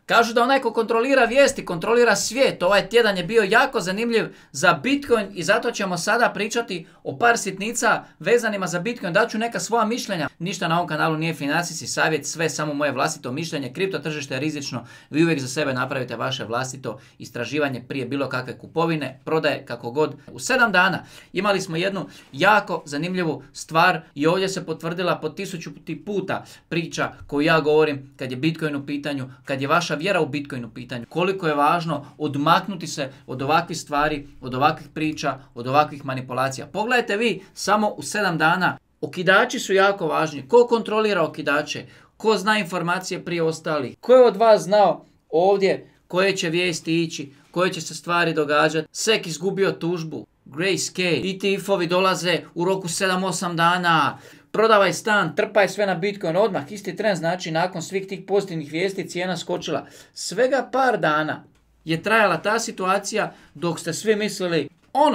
Kažu da onaj ko kontrolira vijesti, kontrolira svijet. Ovaj tjedan je bio jako zanimljiv za Bitcoin i zato ćemo sada pričati o par sitnica vezanima za Bitcoin. Daću neka svoja mišljenja. Ništa na ovom kanalu nije financijski savjet, sve samo moje vlastito mišljenje. Kripto tržište je rizično. Vi uvijek za sebe napravite vaše vlastito istraživanje prije bilo kakve kupovine, prodaje, kako god. U 7 dana imali smo jednu jako zanimljivu stvar i ovdje se potvrdila po 1000 puta priča koju ja govorim kad je Bitcoin u pitanju, kad je vaša vjera u Bitcoin u pitanju. Koliko je važno odmaknuti se od ovakvih stvari, od ovakvih priča, od ovakvih manipulacija. Pogledajte vi samo u 7 dana. Okidači su jako važni. Ko kontrolira okidače? Ko zna informacije prije ostalih? Ko je od vas znao ovdje koje će vijesti ići, koje će se stvari događati? SEC izgubio tužbu. Grayscale. ETF-ovi dolaze u roku 7-8 dana. Prodavaj stan, trpaj sve na Bitcoin odmah. Isti trend, znači nakon svih tih pozitivnih vijesti cijena skočila. Svega par dana je trajala ta situacija dok ste svi mislili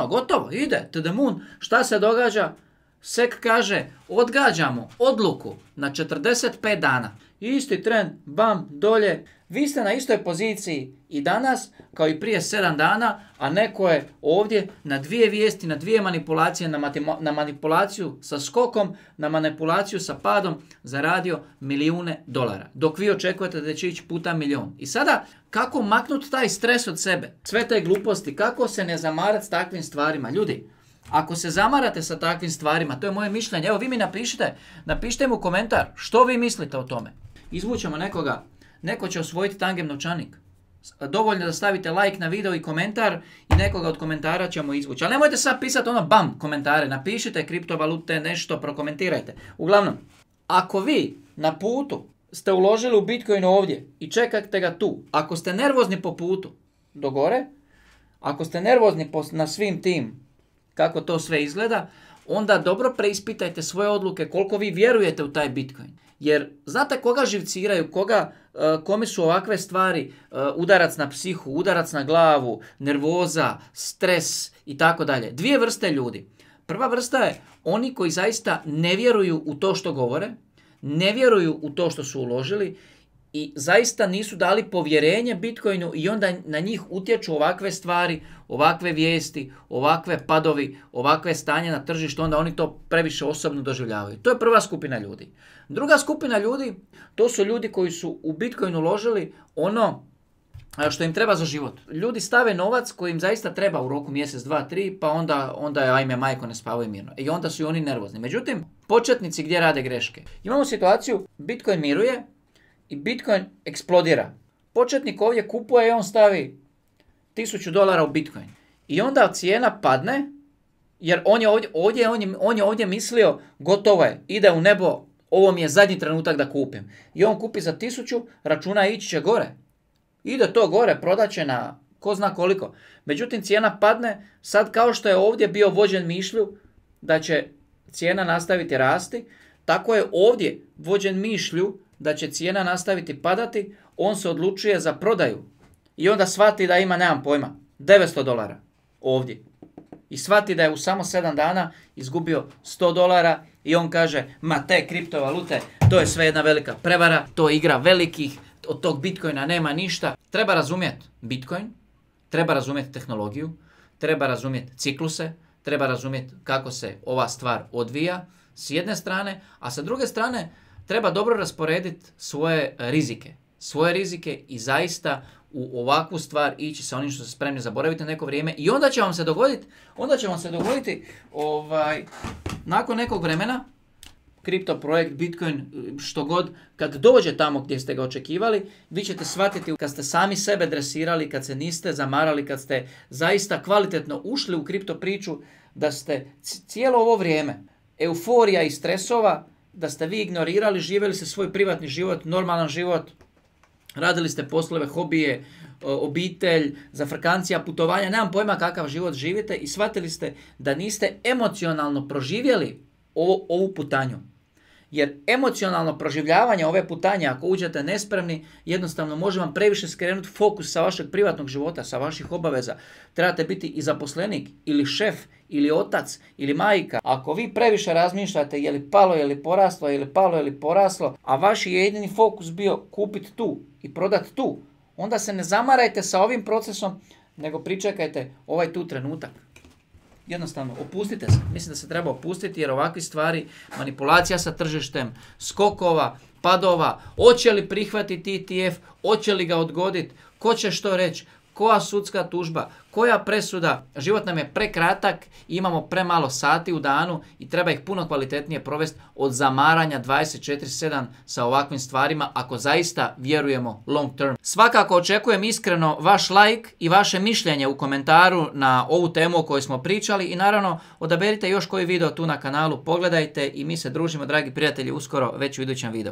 gotovo, ide to the moon. Šta se događa? SEC kaže odgađamo odluku na 45 dana. Isti trend, bam, dolje. Vi ste na istoj poziciji i danas kao i prije 7 dana, a neko je ovdje na dvije vijesti, na dvije manipulacije, na manipulaciju sa skokom, na manipulaciju sa padom zaradio milijune dolara. Dok vi očekujete da će ići puta milijun. I sada kako maknuti taj stres od sebe? Sve te gluposti, kako se ne zamarati s takvim stvarima? Ljudi, ako se zamarate sa takvim stvarima, to je moje mišljenje, evo vi mi napišite mu komentar što vi mislite o tome. Izvučemo nekoga, neko će osvojiti tangem novčanik. Dovoljno da stavite like na video i komentar i nekoga od komentara ćemo izvući. Ali nemojte sad pisati bam komentare, napišite kriptovalute, nešto, prokomentirajte. Uglavnom, ako vi na putu ste uložili u Bitcoin ovdje i čekate ga tu, ako ste nervozni po putu do gore, ako ste nervozni na svim tim kako to sve izgleda, onda dobro preispitajte svoje odluke koliko vi vjerujete u taj Bitcoin. Jer znate koga živciraju, kome su ovakve stvari, udarac na psihu, udarac na glavu, nervoza, stres i tako dalje. Dvije vrste ljudi. Prva vrsta je oni koji zaista ne vjeruju u to što govore, ne vjeruju u to što su uložili i zaista nisu dali povjerenje Bitcoinu i onda na njih utječu ovakve stvari, ovakve vijesti, ovakve padovi, ovakve stanje na tržištu, onda oni to previše osobno doživljavaju. To je prva skupina ljudi. Druga skupina ljudi, to su ljudi koji su u Bitcoin uložili ono što im treba za život. Ljudi stave novac koji im zaista treba u roku mjesec, 2, 3, pa onda je ajme majko ne spavaju mirno. I onda su i oni nervozni. Međutim, početnici gdje rade greške? Imamo situaciju, Bitcoin miruje i Bitcoin eksplodira. Početnik ovdje kupuje i on stavi $1000 u Bitcoin. I onda cijena padne, jer on je ovdje mislio gotovo je, ide u nebo, ovo mi je zadnji trenutak da kupim. I on kupi za 1000, računa ići će gore. Ide to gore, prodaće na ko zna koliko. Međutim, cijena padne, sad kao što je ovdje bio vođen mišlju da će cijena nastaviti rasti, tako je ovdje vođen mišlju da će cijena nastaviti padati, on se odlučuje za prodaju. I onda shvati da ima, nemam pojma, $900 ovdje. I shvati da je u samo 7 dana izgubio $100 i on kaže, ma te kriptovalute, to je sve jedna velika prevara, to je igra velikih, od tog Bitcoina nema ništa. Treba razumjeti Bitcoin, treba razumjeti tehnologiju, treba razumjeti cikluse, treba razumjeti kako se ova stvar odvija s jedne strane, a sa druge strane treba dobro rasporediti svoje rizike i zaista u ovakvu stvar ići sa onim što ste spremni zaboraviti na neko vrijeme i onda će vam se dogoditi, nakon nekog vremena, kripto projekt, Bitcoin, što god, kad dođe tamo gdje ste ga očekivali, vi ćete shvatiti kad ste sami sebe dresirali, kad se niste zamarali, kad ste zaista kvalitetno ušli u kripto priču, da ste cijelo ovo vrijeme euforija i stresova, da ste vi ignorirali, živjeli ste svoj privatni život, normalan život, radili ste poslove, hobije, obitelj, zafrkancija, putovanja, nemam pojma kakav život živite i shvatili ste da niste emocionalno proživjeli ovu putanju. Jer emocionalno proživljavanje ove putanje, ako uđete nespremni, jednostavno može vam previše skrenuti fokus sa vašeg privatnog života, sa vaših obaveza. Trebate biti i zaposlenik, ili šef, ili otac, ili majka. Ako vi previše razmišljate je li palo, je li poraslo, je li palo, je li poraslo, a vaš je jedini fokus bio kupiti tu i prodati tu, onda se ne zamarajte sa ovim procesom, nego pričekajte ovaj tu trenutak. Jednostavno, opustite se. Mislim da se treba opustiti jer ovakve stvari, manipulacija sa tržištem, skokova, padova, hoće li prihvatiti ETF, hoće li ga odgoditi, ko će što reći, koja sudska tužba, koja presuda, život nam je prekratak, imamo premalo sati u danu i treba ih puno kvalitetnije provesti od zamaranja 24/7 sa ovakvim stvarima ako zaista vjerujemo long term. Svakako očekujem iskreno vaš like i vaše mišljenje u komentaru na ovu temu o kojoj smo pričali i naravno odaberite još koji video tu na kanalu, pogledajte i mi se družimo, dragi prijatelji, uskoro već u idućem videu.